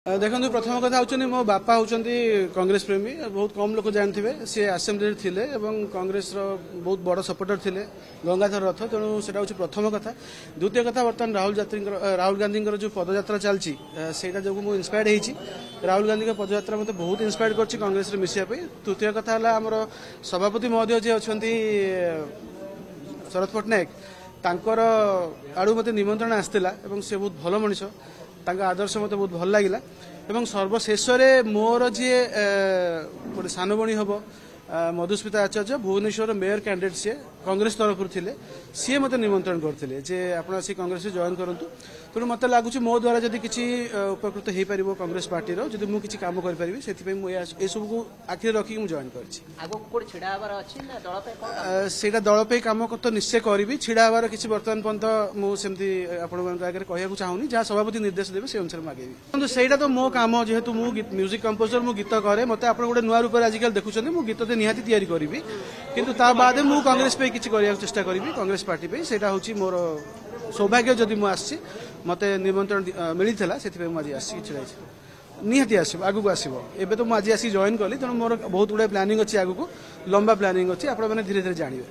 ଦେଖନ୍ତୁ, ପ୍ରଥମ କଥା ହେଉଛନ୍ତି ମୋ ବାପା ହେଉଛନ୍ତି କଂଗ୍ରେସ ପ୍ରେମୀ। ବହୁତ କମ୍ ଲୋକ ଜାଣିଥିବେ, ସିଏ ଆସେମ୍ବଲିରେ ଥିଲେ ଏବଂ କଂଗ୍ରେସର ବହୁତ ବଡ଼ ସପୋର୍ଟର ଥିଲେ, ଗଙ୍ଗାଧର ରଥ। ତେଣୁ ସେଟା ହେଉଛି ପ୍ରଥମ କଥା। ଦ୍ୱିତୀୟ କଥା, ବର୍ତ୍ତମାନ ରାହୁଲ ଯାତ୍ରୀଙ୍କର, ରାହୁଲ ଗାନ୍ଧୀଙ୍କର ଯେଉଁ ପଦଯାତ୍ରା ଚାଲିଛି, ସେଇଟା ଯୋଗୁଁ ମୁଁ ଇନ୍ସପାୟାର୍ଡ ହେଇଛି। ରାହୁଲ ଗାନ୍ଧୀଙ୍କ ପଦଯାତ୍ରା ମୋତେ ବହୁତ ଇନ୍ସପାୟାର୍ଡ କରିଛି କଂଗ୍ରେସରେ ମିଶିବା ପାଇଁ। ତୃତୀୟ କଥା ହେଲା ଆମର ସଭାପତି ମହୋଦୟ ଯିଏ ଅଛନ୍ତି ଶରତ ପଟ୍ଟନାୟକ, ତାଙ୍କର ଆଡ଼ୁ ମୋତେ ନିମନ୍ତ୍ରଣ ଆସିଥିଲା ଏବଂ ସେ ବହୁତ ଭଲ ମଣିଷ, ତାଙ୍କ ଆଦର୍ଶ ମୋତେ ବହୁତ ଭଲ ଲାଗିଲା। ଏବଂ ସର୍ବଶେଷରେ ମୋର ଯିଏ ଗୋଟେ ସାନ ଭଉଣୀ ହେବ, ମଧୁସ୍ମିତା ଆଚାର୍ଯ୍ୟ, ଭୁବନେଶ୍ୱର ମେୟର କ୍ୟାଣ୍ଡିଡେଟ୍ ସିଏ କଂଗ୍ରେସ ତରଫରୁ ଥିଲେ, ସିଏ ମୋତେ ନିମନ୍ତ୍ରଣ କରିଥିଲେ ଯେ ଆପଣ ଆସି କଂଗ୍ରେସରେ ଜଏନ୍ କରନ୍ତୁ। ତେଣୁ ମୋତେ ଲାଗୁଛି ମୋ ଦ୍ୱାରା ଯଦି କିଛି ଉପକୃତ ହେଇପାରିବ କଂଗ୍ରେସ ପାର୍ଟିର, ଯଦି ମୁଁ କିଛି କାମ କରିପାରିବି, ସେଥିପାଇଁ ମୁଁ ଏସବୁକୁ ଆଖିରେ ରଖିକି ମୁଁ ଜଏନ୍ କରିଛି। ଆଗକୁ କୋଉଠି ଛିଡ଼ା ହେବାର ଅଛି ନା ଦଳ ପାଇଁ କଣ କାମ? ସେଇଟା ଦଳ ପାଇଁ କାମ ତ ନିଶ୍ଚୟ କରିବି। ଛିଡ଼ା ହେବାର କିଛି ବର୍ତ୍ତମାନ ପର୍ଯ୍ୟନ୍ତ ମୁଁ ସେମିତି ଆପଣମାନଙ୍କ ଆଗରେ କହିବାକୁ ଚାହୁଁନି। ଯାହା ସଭାପତି ନିର୍ଦ୍ଦେଶ ଦେବେ, ସେ ଅନୁସାରେ ମୁଁ ଆଗେଇବି। କିନ୍ତୁ ସେଇଟା ତ ମୋ କାମ, ଯେହେତୁ ମୁଁ ମ୍ୟୁଜିକ୍ କମ୍ପୋଜର, ମୁଁ ଗୀତ କରେ। ମୋତେ ଆପଣ ଗୋଟେ ନୂଆ ରୂପରେ ଆଜିକାଲି ଦେଖୁଛନ୍ତି। ମୁଁ ଗୀତ ତ ନିହାତି ତିଆରି କରିବି, କିନ୍ତୁ ତା ବାଦେ ମୁଁ କଂଗ୍ରେସ ପାଇଁ କିଛି କରିବାକୁ ଚେଷ୍ଟା କରିବି, କଂଗ୍ରେସ ପାର୍ଟି ପାଇଁ। ସେଇଟା ହେଉଛି ମୋର ସୌଭାଗ୍ୟ। ଯଦି ମୁଁ ଆସିଛି, ମୋତେ ନିମନ୍ତ୍ରଣ ମିଳିଥିଲା, ସେଥିପାଇଁ ମୁଁ ଆଜି ଆସିକି ଛିଡ଼ା ହେଇଛି। ନିହାତି ଆସିବ, ଆଗକୁ ଆସିବ। ଏବେ ତ ମୁଁ ଆଜି ଆସିକି ଜଏନ୍ କଲି, ତେଣୁ ମୋର ବହୁତ ଗୁଡ଼ାଏ ପ୍ଲାନିଂ ଅଛି, ଆଗକୁ ଲମ୍ବା ପ୍ଲାନିଂ ଅଛି, ଆପଣମାନେ ଧୀରେ ଧୀରେ ଜାଣିବେ।